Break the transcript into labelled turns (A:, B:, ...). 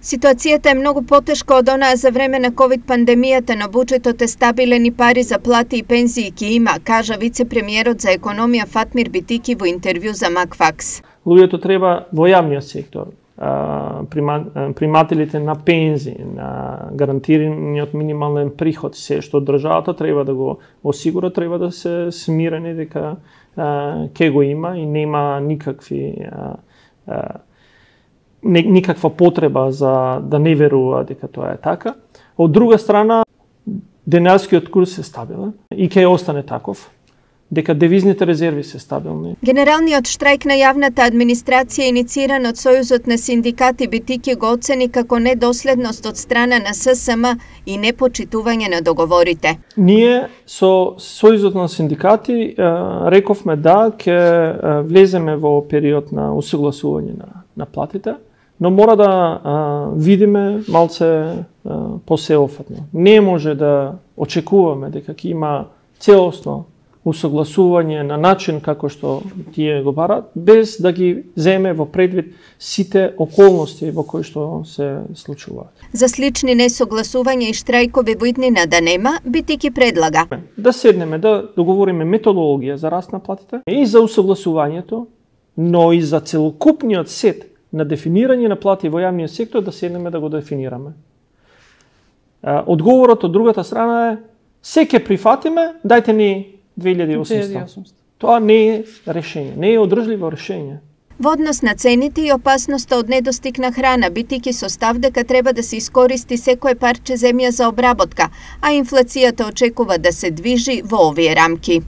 A: Ситуацијата е многу потешка од онаа за време на ковид пандемијата, но буџетот е стабилен и пари за плати и пензии ќе има, кажа вице-премиерот за економија Фатмир Битики во интервју за Макфакс.
B: Луѓето треба во јавниот сектор, примателите на пензии, на гарантираниот минимален приход, се што државата треба да го осигура, треба да се смирени дека ќе го има и нема никаква потреба за да не верува дека тоа е така. Од друга страна, денарскиот курс е стабилен и ќе остане таков, дека девизните резерви се стабилни.
A: Генералниот штрајк на јавната администрација, иницииран од Сојузот на синдикати, Битики го оцени како недоследност од страна на ССМ и непочитување на договорите.
B: Ние со Сојузот на синдикати рековме да ќе влеземе во период на усогласување на платите, но мора да видиме малце посеофатно. Не може да очекуваме дека ќе има целосно усогласување на начин како што тие го барат, без да ги земе во предвид сите околности во кои што се случуваат.
A: За слични несогласувања и штрајкови во иднина да нема, Битики предлага
B: да седнеме, да договориме методологија за раст на платите и за усогласувањето, но и за целокупниот сет на дефинирање на плати во јавниот сектор, да седнеме да го дефинираме. Одговорот од другата страна е: се ќе прифатиме, дајте ни 2800. Тоа не е решение, не е одржливо решение.
A: Во однос на цените и опасноста од недостиг на храна, Битики со став дека треба да се искористи секое парче земја за обработка, а инфлацијата очекува да се движи во овие рамки.